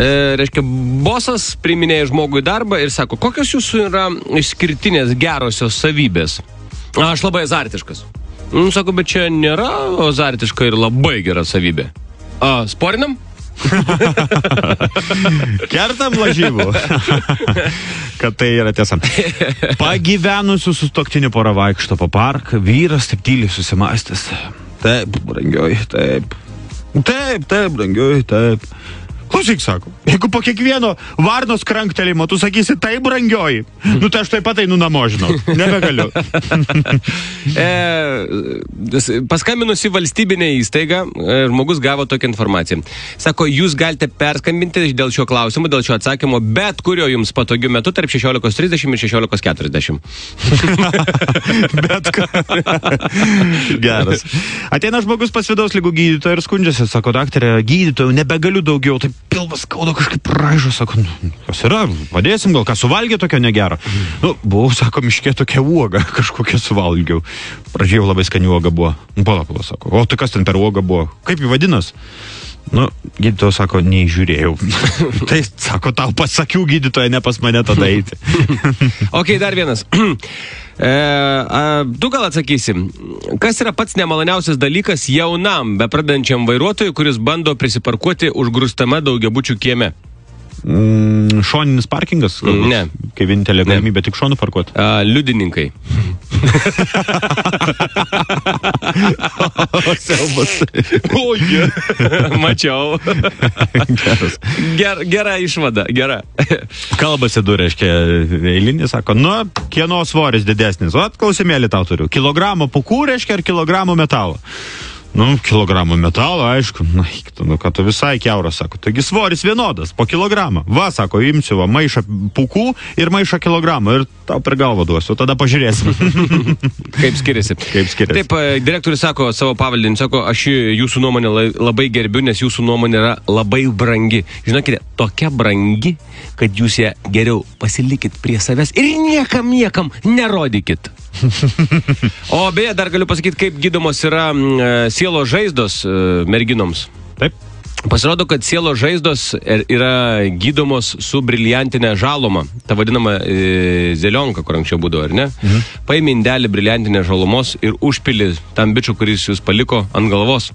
Reiškia, bosas priminėja žmogų į darbą ir sako, kokios jūsų yra išskirtinės gerosios savybės? Aš labai azartiškas. Sako, bet čia nėra azartiška ir labai gera savybė. Sporinam? Kertam lažybų. Kad tai yra tiesa. Pagyvenusių sutuoktinių pora vaikšto po parką, vyras taip tyliai susimąstęs. Taip, brangioji, taip. Taip, brangioji, taip. Klausyk, sako, jeigu po kiekvieno varnos kranktelimo tu sakysi, tai brangioji, tai aš taip pat einu namo, žinau, nebegaliu. Paskambinusi valstybinė įstaiga, žmogus gavo tokią informaciją. Sako, jūs galite perskambinti dėl šio klausimo, dėl šio atsakymo, bet kurio jums patogiu metu tarp 16:30 ir 16:40. Bet ką. Geras. Ateina žmogus pas vidaus ligų gydytoją ir skundžiasi, sako, daktarė, gydytojau, nebegaliu daugiau, taip pilvas skauda, kažkaip raižo, sako, kas yra, padėsim, gal ką suvalgė tokio negero. Buvau, sako, miške tokia uoga, kažkokia suvalgiau. Pradžiau labai skani uoga buvo. Pala, sako, o tai kas ten per uoga buvo? Kaip jį vadinas? Gydytojas sako, neįžiūrėjau. Tai, sako, tau pasakiau gydytoja, ne pas mane tada eiti. Ok, dar vienas. Tu gal atsakysi, kas yra pats nemaloniausias dalykas jaunam, bepradedančiam vairuotojui, kuris bando prisiparkuoti užgrūstame daugiabučių kieme? Šoninis parkingas? Ne. Kai vienintelė galimybė tik šonų parkuoti? Liudininkai. Mačiau. Gera išvada, gera. Kalbasi du, reiškia, eilinį, sako, kieno svoris didesnis? Klausimėlį tau turiu. Kilogramą pūkų, reiškia, ar kilogramų metalo? Kilogramų metalo, aišku. Ką tu visai kiauras, sako. Taigi svoris vienodas, po kilogramą. Sako, imsiu maišą pūkų ir maišą kilogramų ir tau per galvą duosiu, tada pažiūrėsim. Kaip skiriasi. Taip, direktorius sako savo pavaldinį, sako, aš jūsų nuomonę labai gerbiu, nes jūsų nuomonė yra labai brangi. Žinokite, tokia brangi, kad jūs ją geriau pasilikit prie savęs ir niekam nerodykit. O beje, dar galiu pasakyti, kaip gydomos yra sielos žaizdos merginoms. Taip. Pasirodo, kad sielos žaizdos yra gydomos su briliantinė žaloma. Ta vadinama zelionka, kur anksčiau būdavo, ar ne? Paimi indelį briliantinės žalomos ir užpili tam bičiu, kuris jūs paliko ant galvos.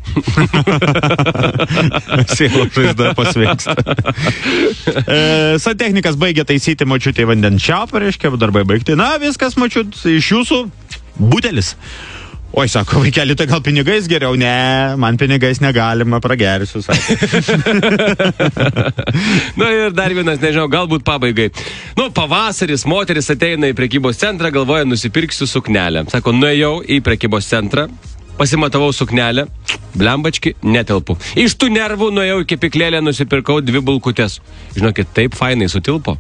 Sielos žaizda pasveiksta. Santechnikas baigė taisyti močiutį vandens čiaupą, reiškia, darbai baigti. Viskas, močiut, iš jūsų butelis. Oi, sako, vaikeli, tai gal pinigais geriau? Ne, man pinigais negalima, pragersiu, sako. Ir dar vienas, nežinau, galbūt pabaigai. Pavasaris, moteris ateina į prekybos centrą, galvoja, nusipirksiu suknelę. Sako, nuėjau į prekybos centrą, pasimatavau suknelę, blembački, netelpu. Iš tų nervų nuėjau į kepyklėlę, nusipirkau 2 bulkutės. Žinokit, taip fainai sutilpo.